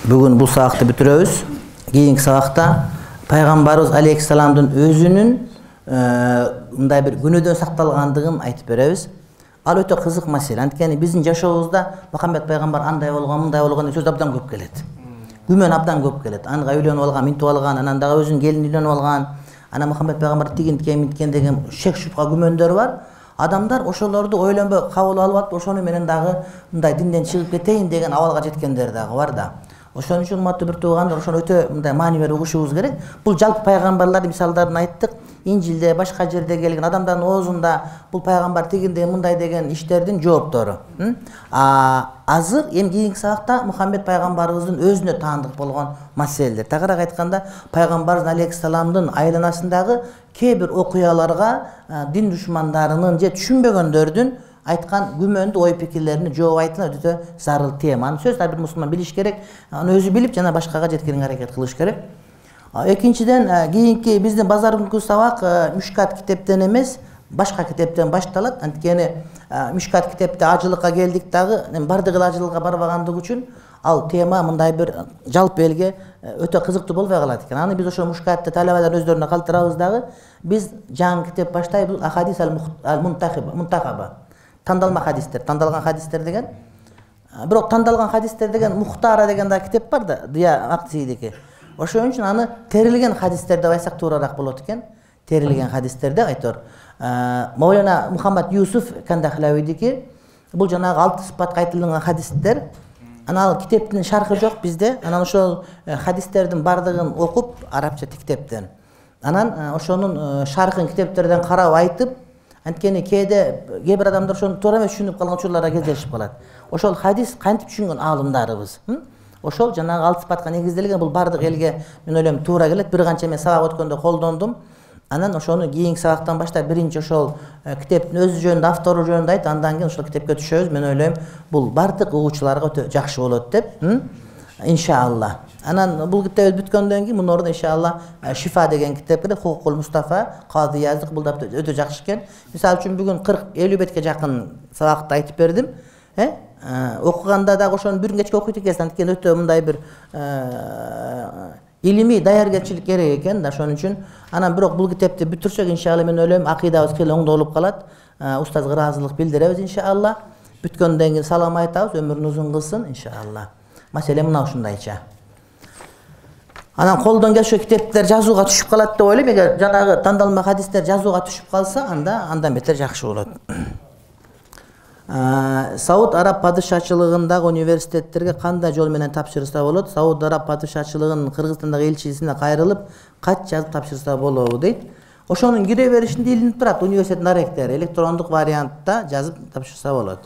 Бүгүн бул сабакты бүтүрөбүз. Кийинки сабакта пайгамбарыбыз алейхиссаламдын өзүнүн мындай бир күнөөдөн сакталгандыгын айтып беребиз. Ал өтө кызык маселе. Анткени биздин жашообузда Мухаммед пайгамбар андай болгон, мындай болгон деп сөз абдан көп келет. Күмөн абдан көп келет. Анга үйлөнүп алган, минтип алган, анан дагы өзүнүн келини үйлөнүп алган, анан Мухаммед пайгамбар тигин деген шек шубха күмөндөр бар. Адамдар ошолорду ойлонбой кабыл алып алып, ошону менен дагы мындай динден чыгып кетейин деген абалга жеткендер дагы бар да. Ошон үчүн урматтуу бир туугандар, ошону өтө мындай маани берип угушубуз керек. Бул жалпы пайгамбарлардын мисалдарын айттык. Инжилде, башка жерде келген адамдардын оозунда бул пайгамбар тигин деген, мындай деген иштердин жооптору. Азыр эми кийинки сабакта Мухаммед пайгамбарыбыздын өзүнө таандык болгон маселелер. Тагыраак айтканда, пайгамбарыбыз алейхиссаламдын айланасындагы кээ бир окуяларга дин душмандарынын же түшүнбөгөндөрдүн айткан күмөндүү ой пикирлерине жооп айтылат. Өтө зарыл тема. Аны сөз ар бир мусулман билиш керек. Аны өзү билип жана башкага жеткирүүгө аракет кылыш керек. Экинчиден, кийинки биздин базаркүнкү сабак Мüşkat китептен эмес, башка китептен башталат. Анткени Müşkat китепте ажылыкка келдик дагы, бардыгы ажылыкка барбагандыгы үчүн ал тема мындай бир жалпы элге өтө кызыктуу болбой калат экен. Аны биз ошо Müşkatты талабалар өздөрүнө калтырабыз дагы. Биз жаңы китеп баштайбыз. Ахадис ал-Мунтахаба. Тандалма хадистер, тандалган хадистер деген. Бирок тандалган хадистер деген Мухтара деген да китеп бар да, Дия Мактисидики. Ошон үчүн аны терилген хадистер деп айтсак туурараак болот экен. Терилген хадистерде айтор. Мавлана Мухаммад Юсуф Кандахлавидики бул жанагы 6 сыпатка айтылган хадистер. Анан ал китептин шархы жок bizde. Анан ошол хадистердин бардыгын окуп арабча китептен. Анан ошонун шархын китептерден карап айтып, анткени кээ бир адамдар ошону туура эмес түшүнүп калган учурларга кездешип калат. Ошол хадис кантип түшүнгөн аалымдарыбыз. Ошол жанагы 6 сыпатка негизделген, бул бардык элге мен ойлойм туура келет. Бир канча мен сабак өткөндө колдондум. Анан ошону кийинки сабактан баштап биринчи ошол китептин өзү жөнүндө, автору жөнүндө айтып, андан кийин ошол китепке түшөбүз. Мен ойлойм бул бардык угуучуларга өтө жакшы болот деп. Иншалла. Анан бул китеп бүткөндөн кийин мунун ордуна иншалла Шифа деген китеп келет. Хукукул Мустафа, Кади Язык, бул да өтө жакшы экен. Мисалы үчүн бүгүн 40-50 бетке жакын сабакты айтып бердим. Окуганда дагы ошону бир кечке окуйт экенсиз, анткени өтө мындай бир илимий даяргерчилик керек экен да, ошон үчүн. Анан бирок бул китепти бүтүрсөк, иншалла мен ойлойм акыйдабыз кыйла оңдолуп калат. Устазга ыраазылык билдиребиз иншалла. Бүткөндөн кийин салам айтабыз, өмүрүн узун кылсын иншалла. Маселе мына ушундайча. Анан колдон келсе китептер жазууга түшүп калат деп ойлойм. Эгер жанагы тандалма хадистер жазууга түшүп калса, андан бетер жакшы болот. Сауд Араб падышачылыгындагы университеттерге кандай жол менен тапшырса болот? Сауд Араб падышачылыгынын Кыргызстандагы элчисине кайрылып, кат жазып тапшырса болобу дейт. Ошонун кире беришинде илинип турат, университеттин ректори электрондук вариантта жазып тапшырса болот.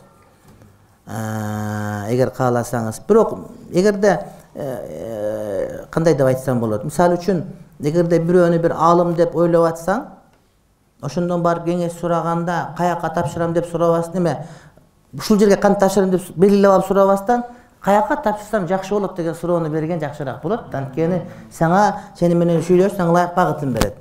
Эгер кааласаңыз. Бирок эгерде кандай деп айтсам болот? Мисалы үчүн, эгерде бирөөнү бир аалым деп ойлоп атсаң, ошондон барып кеңеш сураганда каяка тапшырам деп сурабастан, эме ушул жерге кантип тапшырам деп белгилеп алып сурабастан, каяка тапшырсам жакшы болот деген суроону берген жакшыраак болот. Анткени сени менен сүйлөшсөң ылайык багытын берет.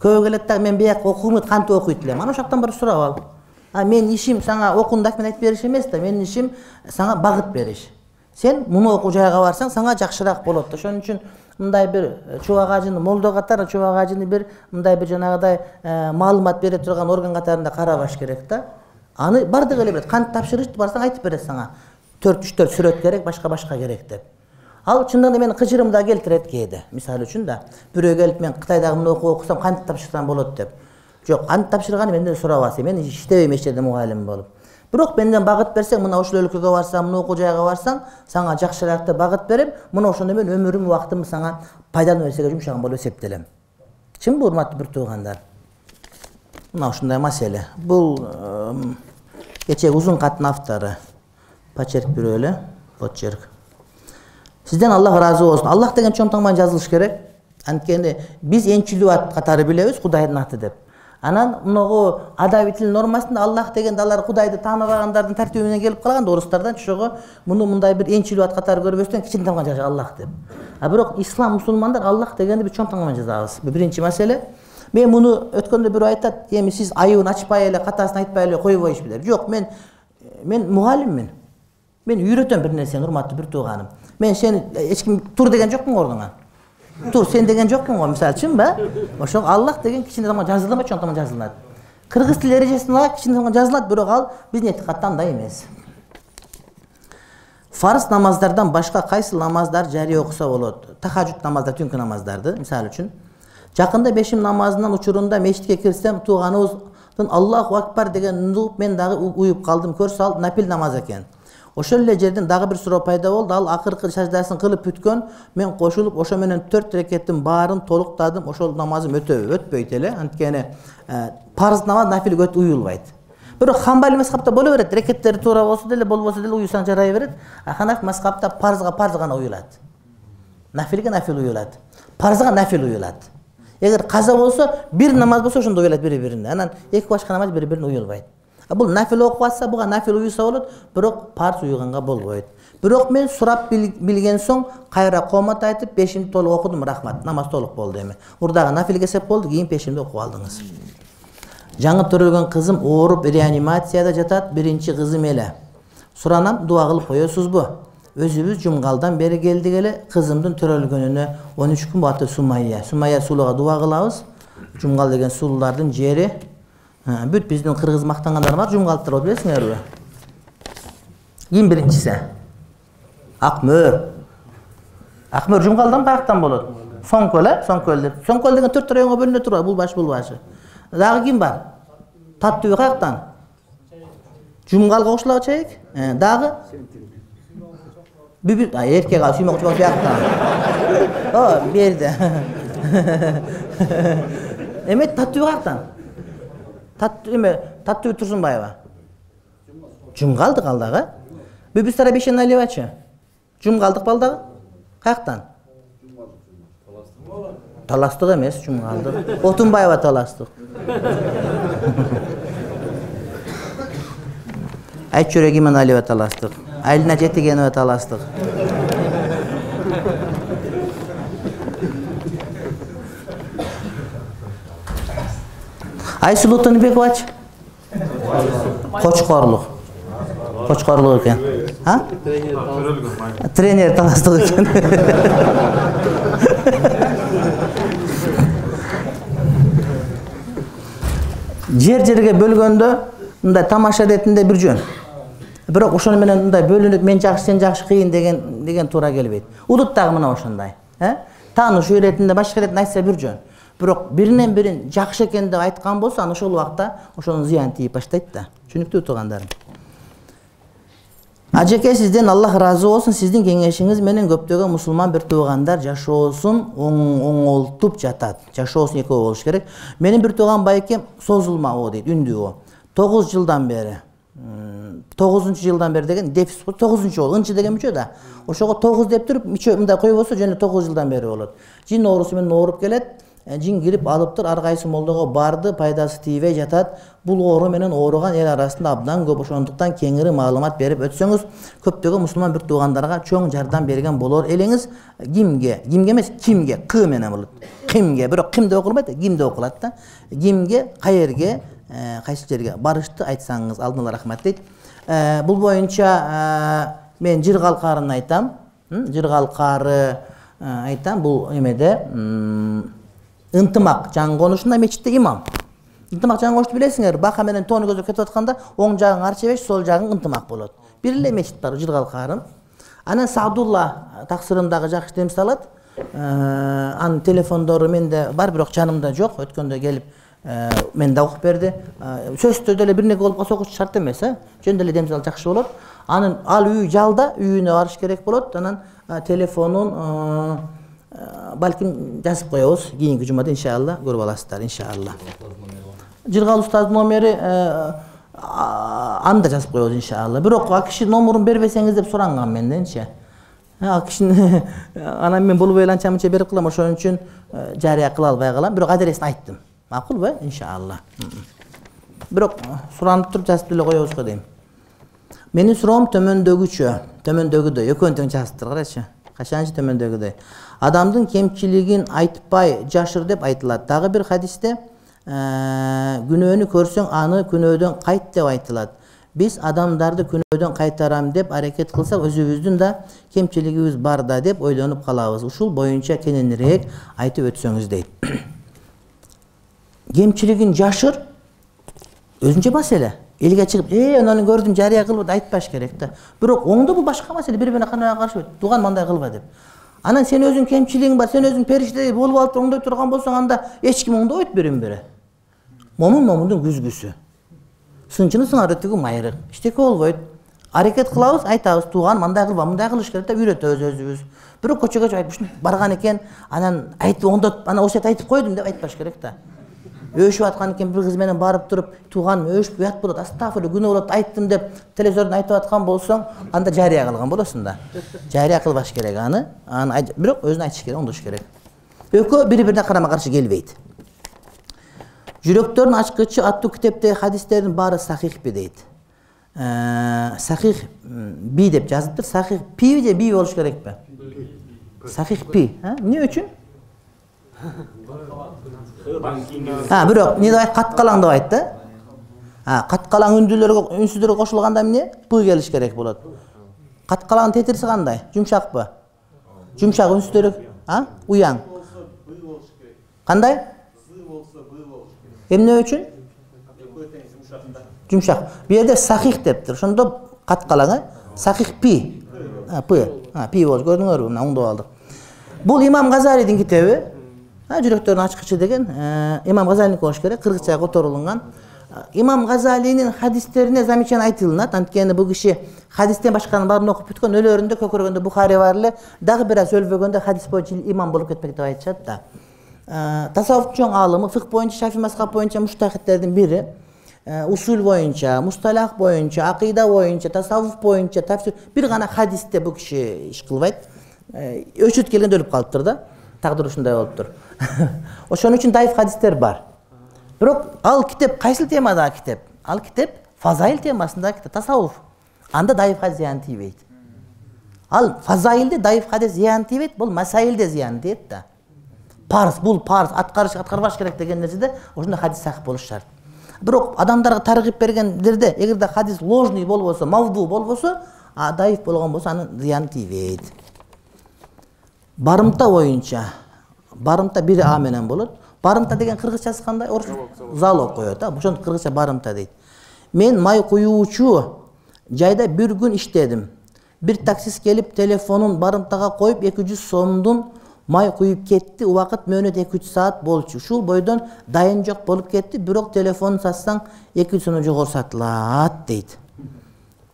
Көбү келет да, мен бияк окуйм, кантип окуйт элем? Ана ошоктон барып сурап ал. Мен ишим сага окундак мен айтып бериш эмес да, менин ишим сага багыт бериш. Сен муну окуу жайга барсаң, сага жакшыраак болот. Ошон үчүн мындай бир чубак ажыны молдо катары, чубак ажыны бир мындай бир жанагыдай маалымат бере турган орган катарында карабаш керек да. Аны бардык эле билет. Кантип тапшырышты барсаң айтып берет сага. 4-3 сүрөт керек, башка керек деп. Ал чындыгында менин кыжырымды да келтирет кээде. Мисалы үчүн да, бирөө келип мен Кытайдагы муну окусам кантип тапшырсам болот деп. Жок, кантип тапшырганы менден сурабасы. Мен иштебейм эч жерде мугалим болуп. Бирок менден багыт берсең, мына ошол өлкөгө барсаң, муну окуу жайга барсаң, сага жакшыраак деп багыт берем. Мына ошондо мен өмүрүм, убактымды сага пайдалуу нерсеге жумшаган болуп эсептелем. Чынбы, урматтуу бир туугандар? Мына ушундай маселе. Бул кечээ узун каттын автору Почерк бирөө эле, Почерк. Сизден Аллах ыраазы болсун. Аллах деген чоң таңбан жазылыш керек. Анткени биз энчилүү ат катары билебиз, Кудайдын аты деп. Анан мынагу адаби тил нормасында Аллах дегенде алар Кудайды тааныбагандардын тартиби менен келип калган да, орустардан чогуу муну мындай бир энчилүү ат катары көрбөстөн кичине таңбан жаза Аллах деп. Бирок ислам мусулмандар Аллах дегенди бир чоң таңбан жазабыз. Бул биринчи маселе. Мен муну өткөндө бирөө айтат, эми сиз айыбын ачпай эле, катасын айтпай эле койбойсузбу деп. Жок, мен мугалиммин. Мен үйрөтөм бир нерсени, урматтуу бир тууганым. Мен сени эч ким тур деген жокмун ордуңа. Тур сен деген жокмун го мисалы үчүнбү? Ошо Аллах деген кичине тамга жазылбайт, чоң тамга жазылат. Кыргыз тил эрежесинде кичине тамга жазылат, бирок ал биздин этикатта андай эмес. Фарз намаздардан башка кайсы намаздар жарыя окуса болот? Тахажжуд намаздар, түнкү намаздарды, мисалы үчүн. Жакында бешим намазынын учурунда мечитке кирсем, тууганыбыздын Аллаху акбар деген угуп мен дагы уюп калдым. Көрсө ал нафил намаз экен. Ошол эле жерден дагы бир суроо пайда болду. Ал акыркы саждасын кылып бүткөн, мен кошулуп ошо менен 4 рекеттин баарын толуктадым. Ошол намазым өтпөйт эле. Анткени парз намаз нафилге уюлбайт. Бирок Хамбали мазхабта боло берет. Рекеттери туура болсо деле, болбосо деле уюсаң жарай берет. Ханафи мазхабта парзга парз гана уюлат. Нафилге нафил уюлат. Парзга нафил уюлат. Эгер каза болсо, бир намаз болсо ошондо уюлат бири-бирине. Анан эки башка намаз бири-бирине уюлбайт. Бул нафил окуп атса, буга нафил уюса болот, бирок парз уюганга болбойт. Бирок мен сурап билген соң кайра комат айтып, пешимди толук окудум, рахмат. Намаз толук болду эми. Урдагы нафилге сеп болду, кийин пешимди окуп алдыңыз. Жаңы төрөлгөн кызым ооруп реанимацияда жатат, биринчи кызым эле. Суранам, дуа кылып коесузбу? Өзүбүз жумгалдан бери келдик эле, кызымдын төрөлгөнүнө 13 күн болду. Сумайя суулуга дуа кылабыз. Жумгал деген суулуулардын жери. Бүт биздин кыргыз мактангандар бар, жумгалдыктар болуп билесиңерби? Ким биринчиси? Акмөр. Акмөр жумгалдан каяктан болот? Соңкөл, Соңкөл деп. Соңкөл деген 4 районго бөлүнө турат, бул башы. Дагы ким бар? Таттыбек каяктан? Жумгалга кошулагы чейик. Дагы? Бүбү, эркек ал сүймөк чоң сыяктан. О, берди. Эме Таттыбек каяктан? Таттыбек Турсунбаева. Жумгалдык ал дагы. Бүбүстара Бешеналиевачы. Жумгалдык балдагы? Каяктан? Таластык эмес, жумгалдык. Отунбаева таластык. Айтчүрек Иманалиева таластык. Айлина Жетигенова таластык. Айсулуу Тыныбековач? Кочкорлук. Кочкорлук экен. Тренер таластык экен. Жер-жерге бөлгөндө мындай тамаша иретинде бир жөн. Бирок ошону менен мындай бөлүнүп мен жакшы сен жакшы кыйын деген туура келбейт. Удут дагы мына ошондой. Таанышуу иретинде башка иретинде айтса бир жөн. Бирок биринен бирин жакшы экен деп айткан болсо, аны ошол убакта ошонун зыяны тийип баштайт да. Түшүнүктүү туугандарым. Ажеке, сизден Аллах ыраазы болсун. Сиздин кеңешиңиз менен көптөгөн мусулман бир туугандар жашоосун оңолтуп жатат. Жашоосун экөө болуш керек. Менин бир тууган байкем созулмабы дейт, үндүү. 9 жылдан бери. 9-жылдан бери деген дефис 9-жол, ынчы деген мүчө да. Ошого 9 деп туруп, мүчө мындай койбосо жөн 9 жылдан бери болот. Жин оорусу менен ооруп келет. Жин кирип алыптыр, ар кайсы молдого барды, пайдасы тийбей жатат. Бул оору менен ооруган эл арасында абдан көп, ошондуктан кеңири маалымат берип өтсөңүз, көптөгөн мусулман бир туугандарга чоң жардам берген болор элеңиз. Кимге эмес, кимге, к менен болот. Кимге, бирок ким деп окулбайт, ким деп окулат да. Кимге, каерге, кайсы жерге барышты айтсаңыз алдын рахмат дейт. Бул боюнча мен Жыргалкарын айтам. Жыргалкары айтам, бул эмеде ынтымак жаңы конушунда мечитте имам. Ынтымак жаңы конушту билесиңер, бака менен тоону көздөп кетип атканда оң жагың арчебеш, сол жагың ынтымак болот. Бир эле мечит бар, Жыргалкарын. Анан Саадулла таксырымдагы жакшы темсил алат. Анын телефондору менде бар, бирок жанымда жок. Өткөндө келип мен да окуп берди. Сөздө деле бир нерсе болуп калса окуш шарт эмес, жөн деле темсил жакшы болот. Анын ал үй жалда, үйүнө барыш керек болот. Анан телефонун балким жазып коебуз. Кийинки жумада иншалла көрүп аласыздар, иншалла. Жыргал устаздын номери анда жазып коебуз иншалла. Бирок ал киши номерин бербесеңиз деп суранган менденчи. Ал кишини анан мен болбой анча-мынча берип кылам, ошон үчүн жарыя кыла албай калам. Бирок адресин айттым. Макулбу? Иншалла. Бирок суранып туруп жазып деле коебуз го дейм. Менин суроом төмөндөгүдөй, экөөнү тең жазыптыр, карачы. Качанчы төмөндөгүдөй. Адамдын кемчилигин айтпай жашыр деп айтылат. Дагы бир хадисте күнөөнү көрсөң аны күнөөдөн кайт деп айтылат. Биз адамдарды күнөөдөн кайтарам деп аракет кылсак, өзүбүздүн да кемчилигибиз бар да деп ойлонуп калабыз. Ушул боюнча кененирээк айтып өтсөңүз дейт. Кемчилигин жашыр өзүнчө маселе. Элге чыгып, ананы көрдүм, жарыя кылып айтпаш керек да. Бирок оңдо бул башка маселе, бири-бирине кандай каршы туган мындай кылба деп. Анан сен өзүң кемчилигиң бар, сен өзүң периштедей болуп алып оңдой турган болсоң, анда эч ким оңдобойт бирин-бири. Момундун күзгүсү. Сынчыны сыңар өтүгү майрык. Эчтеке болбойт. Аракет кылабыз, айтабыз, туган мындай кылба, мындай кылыш керек деп үйрөтөбүз өзүбүз. Бирок көчөгө чыгып ушинтип барган экен, анан айтып оңдоп, анан осет айтып койдум деп айтпаш керек да. Өшүп аткан экен, бир кыз менен барып туруп, туган өшүп уят болот, астагфирулла, күнөө болот, айттым деп телевизордон айтып аткан болсоң, анда жарыя кылган болосуң да. Жарыя кылбаш керек аны бирок өзүн айтыш керек, оңдош керек. Экөө бири-бирине карама-каршы келбейт. Жүрөктөрдүн ачкычы аттуу китептеги хадистердин баары сахихпи дейт. Сахих би деп жазыптыр. Сахих пи же би болуш керекпи? Сахих пи. Эмне үчүн? Бирок эмне деп айт? Каткалаң деп айт да. Каткалаң үнсүздөргө кошулганда эмне? Пы келиш керек болот. Каткалаңдын тетириси кандай? Жумшакпы? Жумшак үнсүздөрү, уяң. Кандай? Эмне үчүн? Жумшак. Бу жерде сахих дептир. Ошондо каткалаң, сахих пи. Пи болуш, көрдүңөрбү? Мына оңдоп алдык. Бул Имам Газалийдин китеби. Жүрөктөрдүн ачкычы деген Имам Газалийники болуш керек, кыргызчага которулган. Имам Газалийнин хадистерине замечание айтылынат. Анткени бул киши хадистен башканын баарын окуп бүткөн, өлөрүндө көкөргөндө Бухари бар эле, дагы бир аз өлбөгөндө хадис боюнча имам болуп кетмек деп айтышат да. Тасаввуф чоң аалымы, фикх боюнча, Шафи мазхаб боюнча муштахидтердин бири, усул боюнча, мусталах боюнча, акыйда боюнча, тасаввуф боюнча, тафсир бир гана хадисте бул киши иш кылбайт. Өчүт келгенде өлүп калыптыр да. Тагдыр ушундай болуптур. Ошон үчүн даиф хадистер бар. Бирок ал китеп кайсыл темадагы китеп? Ал китеп фазаил темасындагы китеп, тасаввуф. Анда даиф хадис зыян тийбейт. Ал фазаилде даиф хадис зыян тийбейт, бул масаилде зыян тийет да. Бул парз, аткарбаш керек деген нерседе ошондо хадис сахих болуш шарт. Бирок адамдарга таргып бергендерде, эгерде хадис ложный болбосо, мавду болбосо, даиф болгон болсо анын зыяны тийбейт. Барымта боюнча, барымта бири а менен болот. Барымта деген кыргызчасы кандай? Залог коет, ошондо кыргызча барымта дейт. Мен май куюучу жайда бир күн иштедим. Бир таксист келип телефонун барымтага коюп 200 сомдун май куюп кетти. Убакыт мөөнөт 2-3 саат болчу. Ушул бойдон дайын жок болуп кетти, бирок телефонун сатсаң 200 сомдон жогору сатылат дейт.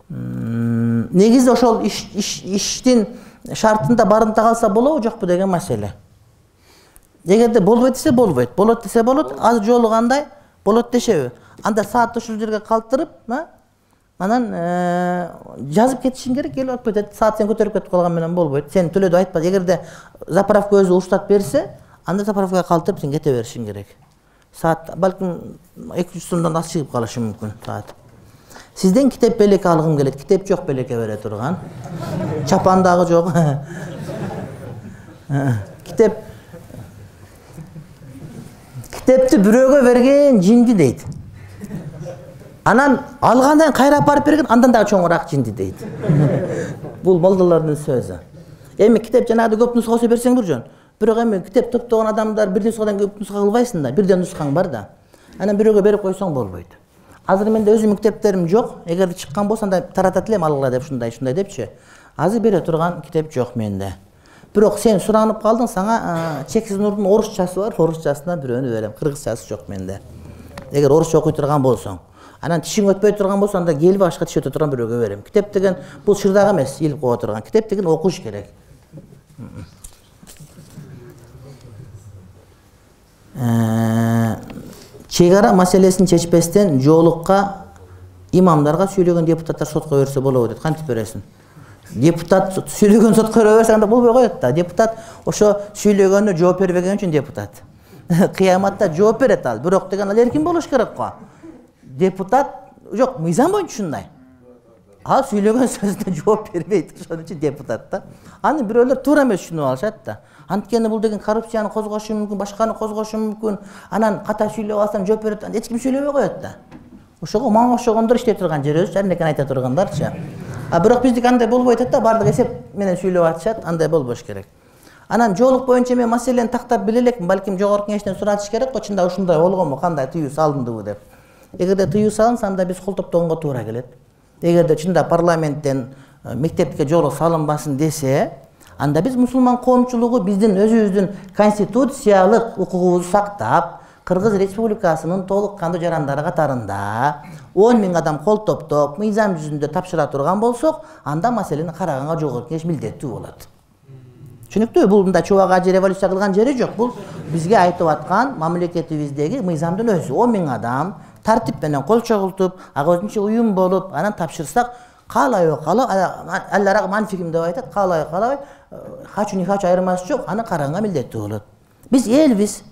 Негизи ошол иштин шартында барымта калса болобу, жокпу деген маселе. Эгерде болбойт десе болбойт, болот десе болот, аз жолу кандай болот дешеби. Анда саатты ушул жерге калтырып, анан жазып кетишиң керек, келип алып кетет. Саат сен көтөрүп кетип калган менен болбойт. Сен төлөдү айтпа. Эгерде заправка өзү уруксат берсе, анда заправкага калтырып сен кете беришиң керек. Саат балким 200 сомдон аз чыгып калышы мүмкүн саат. Сизден китеп белеке алгым келет. Китеп жок, белеке бере турган. Чапандагы жок. Китепти бирөөгө берген жинди дейт. Анан алгандан кайра апарып берген, андан дагы чоңураак жинди дейт. Бул молдолордун сөзү. Эми китеп жанагыда көп нуска болсо берсең бир жөн. Бирок эми китеп топтогон адамдар бир нускадан көп нуска кылбайсың да, бирден нускаң бар да. Анан бирөөгө берип койсоң болбойт. Азыр менде өзүмдүн китептерим жок. Эгер чыккан болсо анда таратат элем алгыла деп ушундай депчи. Азыр бере турган китеп жок менде. Бирок сен суранып калдың, сага Чексиз Нурдун орусчасы бар, орусчасынан бирөөнү берем. Кыргызчасы жок менде. Эгер орусча окуй турган болсоң, анан тишиң өтпөй турган болсо, анда келип башка тиш өтө турган бирөөгө берем. Китеп деген бул шырдак эмес, илип кое турган. Китеп деген окуш керек. Чек ара маселесин чечпестен жоолукка имамдарга сүйлөгөн депутаттар сотко берсе болобу дейт. Кантип бересиң? Депутат сүйлөгөн сотко берсе анда болбой коет да. Депутат ошо сүйлөгөнү жооп бербеген үчүн депутат. Кыяматта жооп берет ал. Бирок деген ал эркин болуш керек го. Депутат жок, мыйзам боюнча ушундай. Ал сүйлөгөн сөзүнө жооп бербейт, ошон үчүн депутат да. Аны бирөөлөр туура эмес түшүнүп алышат да. Анткени бул деген коррупцияны козгошу мүмкүн, башканы козгошу мүмкүн. Анан ката сүйлөп алсаң жооп берет, эч ким сүйлөбөй коет да. Ошого мага окшогондор иштей турган жерибиз, жарнекен айта тургандарчы. Бирок биздики андай болбой атат да, баардык эсеп менен сүйлөп атышат, андай болбош керек. Анан жоолук боюнча мен маселени тактап биле элекмин, балким жогорку кеңештен суратыш керек, чында ушундай болгонбу, кандай тыюу салындыбы деп. Эгерде тыюу салынса, анда биз кол топтогонго туура келет. Эгерде чында парламенттен мектепке жоолук салынбасын десе, анда биз мусулман коомчулугу биздин өзүбүздүн конституциялык укугубузду сактап, Кыргыз Республикасынын толук кандуу жарандары катарында 10 000 адам кол топтоп, мыйзам жүзүндө тапшыра турган болсок, анда маселени караганга жогорку кеңеш милдеттүү болот. Түшүнүктүүбү? Бул мындай чубак ажы революция кылган жери жок. Бул бизге айтып аткан мамлекетибиздеги мыйзамдын өзү. 10 000 адам тартип менен кол чогултуп, ага өзүнчө уюм болуп, анан тапшырсак, каалайбы каалабай, аллара манфигим деп айтат, каалайбы каалабай, хачу не хачу айырмасы жок, аны караганга милдеттүү болот. Биз элбиз.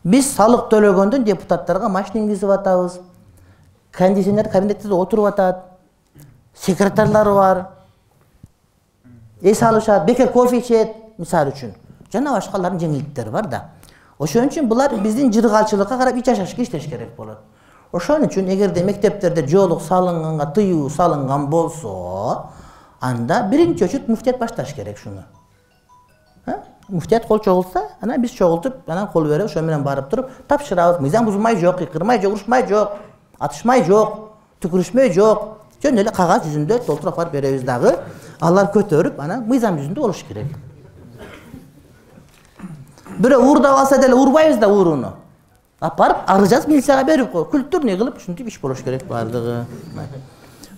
Биз салык төлөгөндөн депутаттарга машина ингизип атабыз. Кондиционер кабинетте отуруп атат. Секретарлары бар. Эс алышат, бекер кофе ичет, мисалы үчүн. Жана башкалардын жеңилдиктери бар да. Ошон үчүн булар биздин жыргалчылыкка карап ич жашашка иштеш керек болот. Ошон үчүн эгерде мектептерде жоолук салынганга тыюу салынган болсо, анда биринчи очут муфтият башташ керек шуну. Муфтият кол чогултса, анан биз чогултуп, анан кол берип, ошо менен барып туруп тапшырабыз. Мыйзам бузулмай жок, кырмай жок, урушмай жок, атышмай жок, түкүрүшмөй жок. Жөн эле кагаз жүзүндө толтуруп барып беребиз дагы. Алар көтөрүп, анан мыйзам жүзүндө болуш керек. Бирөө уурдап алса деле урбайбыз да ууруну. Барып арыз жазып милицияга берип кой. Күлтүрнү кылып ушинтип иш болуш керек бардыгы.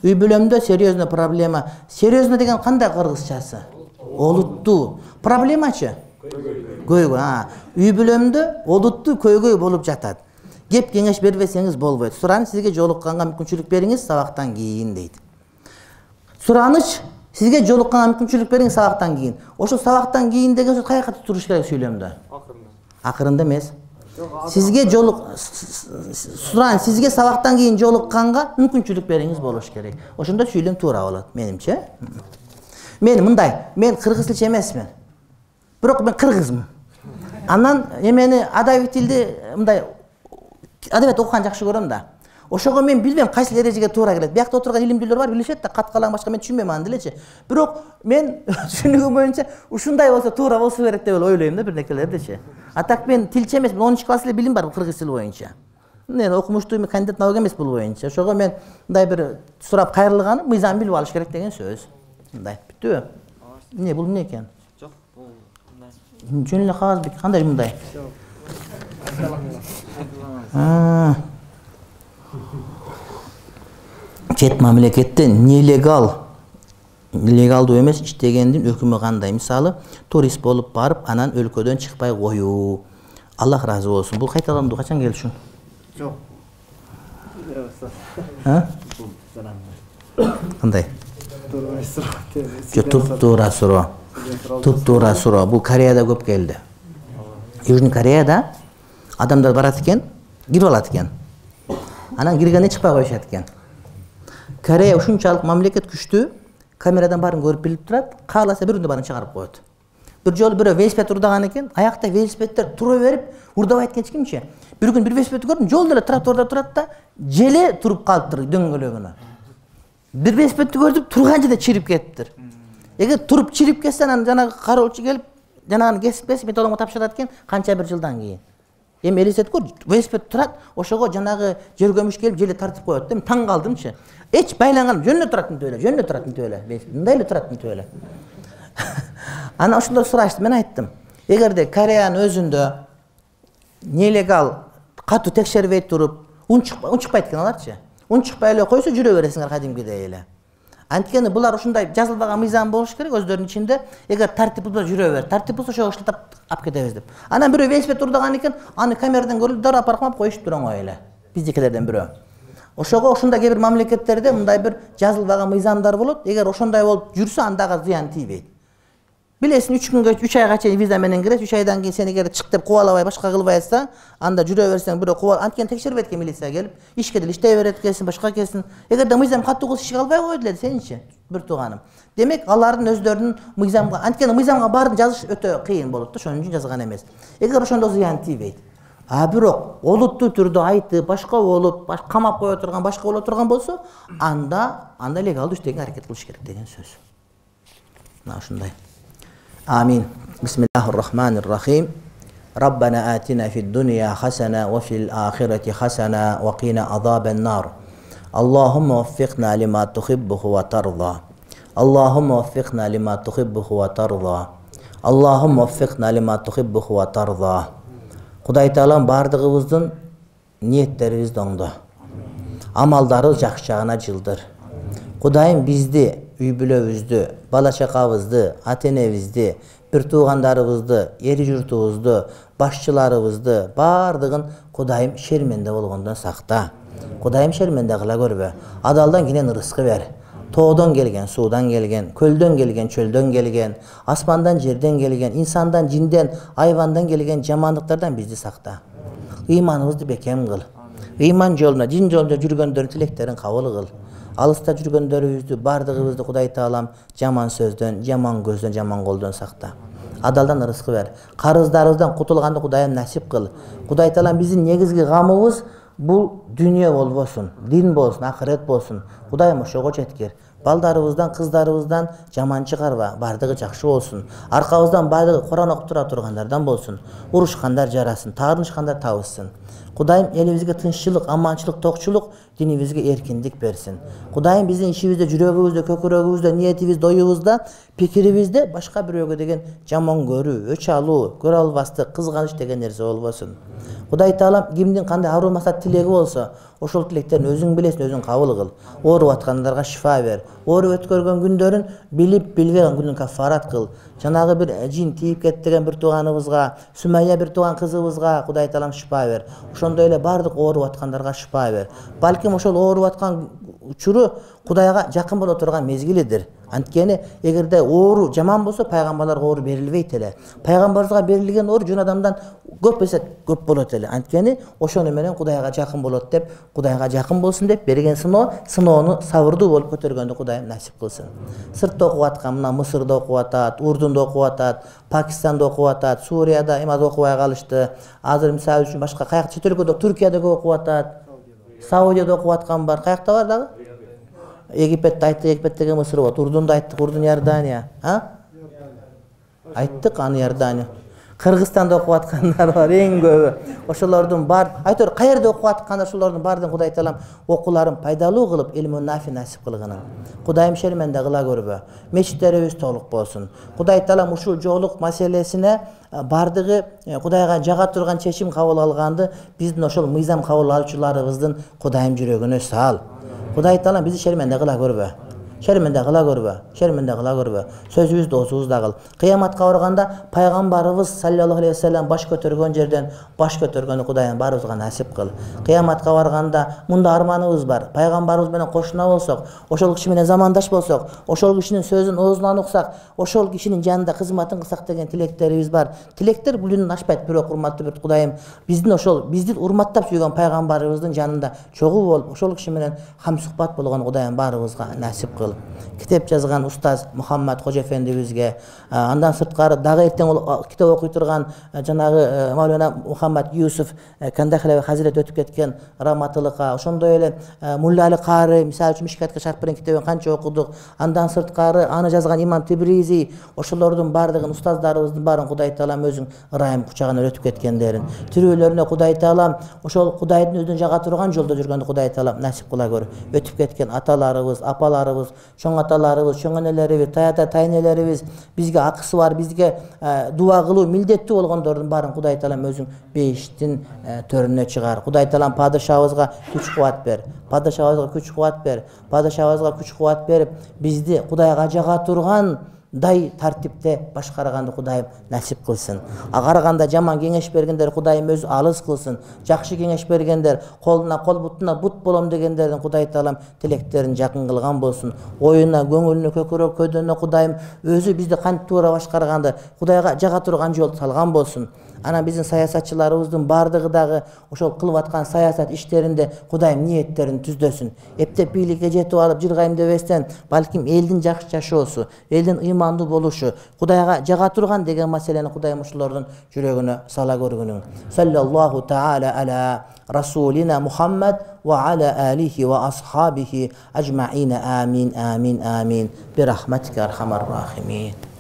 Үй бүлөмдө серьезный проблема. Серьезный деген кандай кыргызчасы? Олуттуу. Проблемачы? Көйгөй. Үй бүлөмдө олуттуу көйгөй болуп жатат. Кеп кеңеш бербесеңиз болбойт. Суран сизге жолукканга мүмкүнчүлүк бериңиз сабактан кийин дейт. Сураныч сизге жолукканга мүмкүнчүлүк бериңиз сабактан кийин. Ошо сабактан кийин деген сөз кайякка туруш керек сүйлөмдө? Акырында эмес. Сизге суран сизге сабактан кийин жолукканга мүмкүнчүлүк бериңиз болуш керек. Ошондо сүйлөм туура болот, менимче. Мен мындай, мен кыргыз тилчи эмесмин. Бирок мен кыргызмын. Анан эмени адабий тилди мындай адабият окуган жакшы көрөм да. Ошого мен билбейм кайсы эрежеге туура келет. Биякта отурган илимдүүлөр бар, билишет да, каткалаң башка мен түшүнбөйм аны делечи. Бирок мен түшүнүгүм боюнча ушундай болсо туура болсо керек деп ойлойм да бирнекелердичи. А так мен тилчи эмесмин, 10 класс эле билим бар кыргыз тили боюнча. Мен окумуштуу кандидат наука эмес бул боюнча. Ошого мен мындай бир сурап кайрылганым мыйзам билип алыш керек деген сөз. Мындай, бүттүбү? Эмне бул эмне экен? Жок, бул мындай. Жөн эле кагаз бек, кандай мындай? Чет мамлекетте нелегалдуу эмес иштегендин өкүмү кандай? Мисалы, турист болуп барып, анан өлкөдөн чыкпай коюу. Аллах разы болсун. Бул кайталанды качан келишин? Жок. Кандай? Туп-туура суроо. Туп-туура суроо. Бул Кореяда көп келди. Южный Кореяда адамдар барат экен, кирип алат экен. Анан киргенде чыкпай коюшат экен. Корея ушунчалык мамлекет күчтүү, камерадан баарын көрүп билип турат, кааласа бир күндө баарын чыгарып коет. Бир жолу бирөө велосипед урдаган экен, аякта велосипеддер тура берип, урдабай экен эчкимчи. Бир күн бир велосипедти көрдүм, жолдо эле тротуарда турат да, желе туруп калыптыр дөңгөлөгүнө. Бир велосипедти көрдүм, турган жерде чирип кетиптир. Эгер туруп чирип кетсе, анан жанагы кароолчу келип, жанаганы кесип металломго тапшырат экен, канча бир жылдан кийин. Эми элестет көр, велосипед турат, ошого жанагы жергөмүш келип желе тартып коет да. Мен таң калдымчы. Эч байланган, жөнүнө турат мынтип эле, жөнүнө турат мынтип эле. Мындай эле турат мынтип эле. Анан ошондо сурашты, мен айттым. Эгерде Кореянын өзүндө нелегал катуу текшербей туруп, унчукпайт экен аларчы. Унчукпай эле койсо жүрө бересиңер кадимкидей эле. Анткени булар ушундай жазылбаган мыйзам болуш керек өздөрүнүн ичинде. Эгер тартип булса жүрө бер, тартип булса ошого шылтап алып кетебиз деп. Анан бирөө велосипед урдаган экен, аны камерадан көрүп дароо паркмап коюштур оңой эле. Биздикилерден бирөө. Ошого ошондой кээ бир мамлекеттерде мындай бир жазылбаган мыйзамдар болот. Эгер ошондой болуп жүрсө, андага зыян тийбейт. Билесиң, 3 айга чейин виза менен кирет, 3 айдан кийин сени эгер чык деп кубалабай башка кылбай атса, анда жүрө берсең бирөө кубал, анткени текшербейт экен милиция келип, ишке деле иштей берет экенсиң, башка экенсиң. Эгерде мыйзам катуу кылса ишке албай коет эле сеничи, бир тууганым. Демек, алардын өздөрүнүн мыйзамга, анткени мыйзамга баарын жазыш өтө кыйын болот да, ошон үчүн жазган эмес. Эгер ошондо зыян тийбейт. А бирок олуттуу түрдө айтып, башка болуп, камап кое турган, башка боло турган болсо, анда легалдуу иштеге аракет кылыш керек деген сөз. Мына ушундай. Амин. Бисмиллахир-рахманир-рахим. Rabbana atina fid dunya hasana wa fil akhirati hasana wa qina adhaban nar. Allahumma waffiqna lima tuhibbuhu wa tarda. Allahumma waffiqna lima tuhibbuhu wa tarda. Allahumma waffiqna lima tuhibbuhu wa tarda. Кудай Таалам бардыгыбыздын ниеттерибизди оңдо. Амалдарыбыз жакшы жагына жылдыр. Кудайым бизди, үй бүлөбүздү, бала чакабызды, ата-энебизди, бир туугандарыбызды, эри журтубузду, башчыларыбызды бардыгын Кудайым шерменде болгондон сакта. Кудайым шерменде кыла көрбө. Адалдан кенен ырыскы бер. Тоодон келген, суудан келген, көлдөн келген, чөлдөн келген, аспандан, жерден келген, инсандан, жинден, айвандан келген жамандыктардан бизди сакта. Ыйманыбызды бекем кыл. Ыйман жолуна, дин жолунда жүргөндөрдүн тилектерин кабыл кыл. Алыста жүргөндөрүбүздү, бардыгыбызды Кудай Таалам жаман сөздөн, жаман көздөн, жаман колдон сакта. Адалдан ырыскы бер. Карыздарыбыздан кутулганды Кудайым насип кыл. Кудай Таалам биздин негизги камыбыз бул дүнүйө болбосун, дин болсун, акырет болсун. Кудайым ошого жеткир. Балдарыбыздан, кыздарыбыздан жаман чыгарба, бардыгы жакшы болсун. Аркабыздан бардыгы Куран окуп тура тургандардан болсун. Урушкандар жарасын, таарынышкандар табышсын. Кудайым элибизге тынччылык, аманчылык, токчулук, динибизге эркиндик берсин. Кудайым биздин ишибизде, жүрөгүбүздө, көкүрөгүбүздө, ниетибизде, оюбузда, пикирибизде башка бирөөгө деген жаман көрүү, өч алуу, көрө албастык, кызганыч деген нерсе болбосун. Кудай Таалам кимдин кандай аруу максат тилеги болсо, ошол тилектерин өзүң билесиң, өзүң кабыл кыл. Ооруп аткандарга шифа бер. Ооруп өткөргөн күндөрүн билип билбеген күнүн кафарат кыл. Жанагы бир жин тийип кетти деген бир тууганыбызга, Сүмайя бир тууган кызыбызга Кудай Таалам шифа бер. Ошондой эле бардык ооруп аткандарга шифа бер. Балким ошол ооруп аткан учуру Кудайга жакын боло турган мезгилидир. Анткени эгерде оору жаман болсо, пайгамбарларга оору берилбейт эле. Пайгамбарыбызга берилген оору жөн адамдан көп эсе көп болот эле. Анткени ошону менен Кудайга жакын болот деп, Кудайга жакын болсун деп берген сыноону сабырдуу болуп көтөргөндү Кудайым насип кылсын. Сыртта окуп аткан, мына Мысырда окуп атат, Урдунда окуп атат, Пакистанда окуп атат, Сурияда эми окубай калышты. Азыр мисалы үчүн башка каякта чет өлкөдө, Түркияда окуп атат, Саудияда окуп аткан бар. Каякта бар дагы? Египетте айттык, Египеттеги Мысыр болот. Урдунда айттык, Урдун Иордания. Айттык, аны Иордания. Кыргызстанда окуп аткандар бар, эң көбү. Ошолордун бар, айтор каерде окуп аткандар, ошолордун баардыгын Кудай Таалам окууларын пайдалуу кылып, илмун нафи насип кылгынын. Кудайым шерменде кыла көрбө. Мечиттерибиз толук болсун. Кудай Таалам ушул жоолук маселесине бардыгы Кудайга жага турган чечим кабыл алганды биздин ошол мыйзам кабыл алуучуларыбыздын Кудайым жүрөгүнө сал. Кудай Таалам бизди шерменде кыла көрбө. Шерменде кыла көрбө. Шерменде кыла көрбө. Сөзүбүздү осубузда кыл. Кыяматка барганда пайгамбарыбыз саллаллаху алейхи вассалам баш көтөргөн жерден баш көтөргөнү Кудайым баарыбызга насип кыл. Кыяматка барганда мында арманыбыз бар. Пайгамбарыбыз менен кошуна болсок, ошол киши менен замандаш болсок, ошол кишинин сөзүн оозунан уксак, ошол кишинин жанында кызматын кылсак деген тилектерибиз бар. Тилектер бүлүнүн ашпайт, бирок урматтуу бир Кудайым биздин урматтап сүйгөн пайгамбарыбыздын жанында чогуу болуп, ошол киши менен хам сухбат болгон Кудайым баарыбызга насип кыл. Китеп жазган устаз Мухаммад Кожо эфендибизге, андан сырткары дагы эртең китеп окуй турган жанагы Маулана Мухаммад Юсуф Кандахлеви хазирет өтүп кеткен раматылыкка, ошондой эле Мулла Али Каары, мисалы үчүн Мишкатка шарпырын китебин канча окудук. Андан сырткары аны жазган Имам Тибризи, ошолордун баардыгын устаздарыбыздын баарын Кудай Таалам өзүң ырайым кучагына өтүп кеткендерин, тирүүлөрүнө Кудай Таалам ошол Кудайдын өзүнө жага турган жолдо жүргөндө Кудай Таалам насип кыла көр. Өтүп кеткен аталарыбыз, апаларыбыз, чоң аталарыбыз, чоң энелерибиз, таята тайнелерибиз, бизге акысы бар, бизге дуа кылуу милдеттүү болгондордун баарын Кудай Таалам өзүң бейиштин төрүнө чыгар. Кудай Таалам падышабызга күч кубат бер. Падышабызга күч кубат бер. Падышабызга күч кубат берип, бизди Кудайга жага турган дай тартипте башкарганды Кудайым насип кылсын. Караганда жаман кеңеш бергендер Кудайым өзү алыс кылсын. Жакшы кеңеш бергендер, колуна кол, бутуна бут болом дегендердин Кудай Таалам тилектерин жакын кылган болсун. Оюна, көңүлүнө, көкүрөк көйдөнүнө Кудайым өзү бизди кантип туура башкарганды Кудайга жага турган жол салган болсун. Анан биздин саясатчыларыбыздын бардыгы дагы ошол кылып аткан саясат иштеринде Кудайым ниеттерин түздөсүн. Эптеп бийликке жетип алып жыргайым дебестен, балким элдин жакшы жашоосу, элдин ыймандуу болушу, Кудайга жага турган деген маселени Кудайым ошолордун жүрөгүнө сала көргүнүң. Саллаллаху таала ала расулина Мухаммад ва аля алихи ва асхабихи ажмаина. Амин, амин, амин. Бирахматика архамар рахимин.